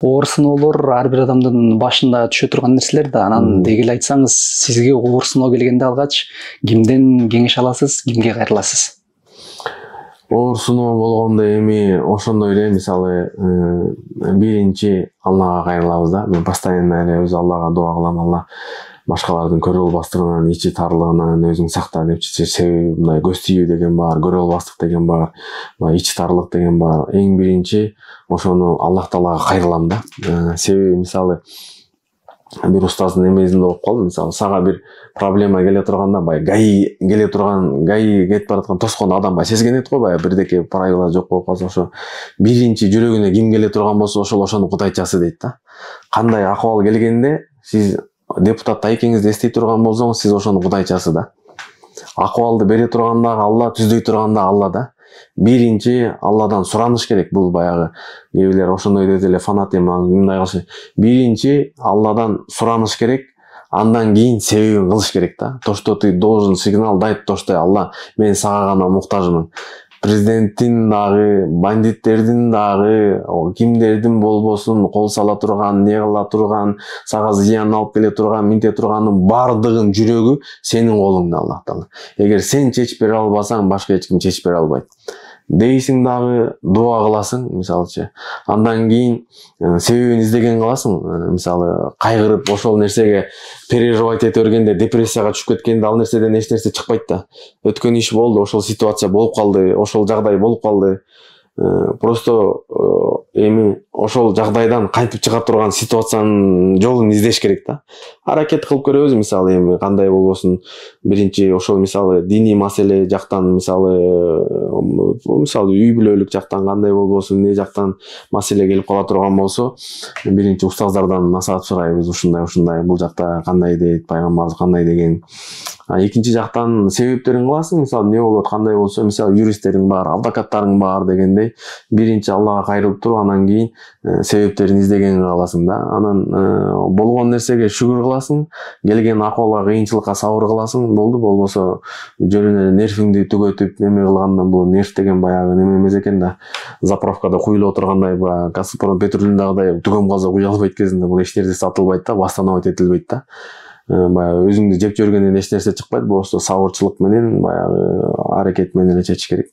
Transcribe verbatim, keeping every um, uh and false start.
Оор сыноолор ар бир адамдын башында түшө турган нерселер да. Анан деги эле айтсаңыз, сизге оор сыноо келгенде алгач кимден кеңеш аласыз, кимге кайрыласыз? Оор сыноо болгондо эми ошондой эле, мисалы, биринчи Аллага кайрылабыз да. Мен постоянно эле өз Аллага дуа кылам. Алла башкалардын көрө албастыгынан, ичи тарлыгынан өзүң сакта депчи. Себеби мындай көз тийүү деген бар, көрө албастык деген бар, ичи тарлык деген бар. Эң биринчи ошону Аллах Таалага кайрылам да. Себеби мисалы бир устаздын эмесинде окуп калдым. Мисалы сага бир проблема келе турганда, бай гаи келе турган, гаи кетип бараткан тоскон адам бай сезгенет го, бай бирдеке правила жок болуп калса, ошо биринчи жүрөгүнө ким келе турган болсо, ошол ошону кудайчасы дейт да. Кандай акыбал келгенде сиз депутатты экиңизди эстей турган болсоңуз, сиз ошону кудайчасы да. Акыбалды бере турганда Алла, түздөй турганда Алла да. Биринчи Алладан сураныш керек. Бул баягы кээ бирлер ошондой дейт эле, фанатизм мындай кылыш. Биринчи Алладан сураныш керек, андан кийин себебин кылыш керек да. То, что ты должен сигнал дать, то, что Алла, мен сага гана муктажмын. Президенттин дагы, бандиттердин дагы, кимдердин болбосун кол сала турган, не кыла турган, сага зыян алып келе турган, минте турганын бардыгын жүрөгү сенин колуңда, Аллах Таала. Эгер сен чечип бере албасаң, башка эч ким чечип бере албайт. Дейсиң дагы, дуа кыласың, мисалчы. Андан кийин себебин издеген кыласың. Мисалы, кайгырып ошол нерсеге переживать эте бергенде, депрессияга түшүп кеткенде ал нерседен эч нерсе чыкпайт да. Өткөн иш болду, ошол ситуация болуп калды, ошол жагдай болуп калды. Просто эми ошол жагдайдан кантип чыга турган ситуациянын жолун издеш керек да. Аракет кылып көрөбүз, мисалы эми кандай болбосун. Биринчи ошол мисалы диний маселе жактан, мисалы мисалы үй бүлөлүк жактан кандай болбосун, эмне жактан маселе келип кала турган болсо, биринчи устаздардан насаат сурайбыз. Ушундай ушундай бул жакта кандай дейт, пайгамбарыбыз кандай деген. А экинчи жактан себептерин кыласың, мисалы эмне болот, кандай болсо, мисалы юристтериң бар, адвокаттарың бар дегендей, биринчи Аллага кайрылып туруп, анан кийин себептерин издеген каласың да. Анан болгон нерсеге шүгүр кыласың, келген акыбалга, кыйынчылыкка сабыр кыласың, болду. Болбосо жөн эле нервиңди түгөтүп неме кылгандан, бул нерв деген баягы неме эмес экен да. Заправкада куюлуп отургандай, баягы Газпром петролиндагыдай түгөм каза куя албайт кезинде, бул эч нерсе сатылбайт да, восстановить этилбейт да. Баягы өзүңдү жеп жибергенден эч нерсе чыкпайт. Болсо сабырчылык менен, баягы аракет менен эле чечиш керек.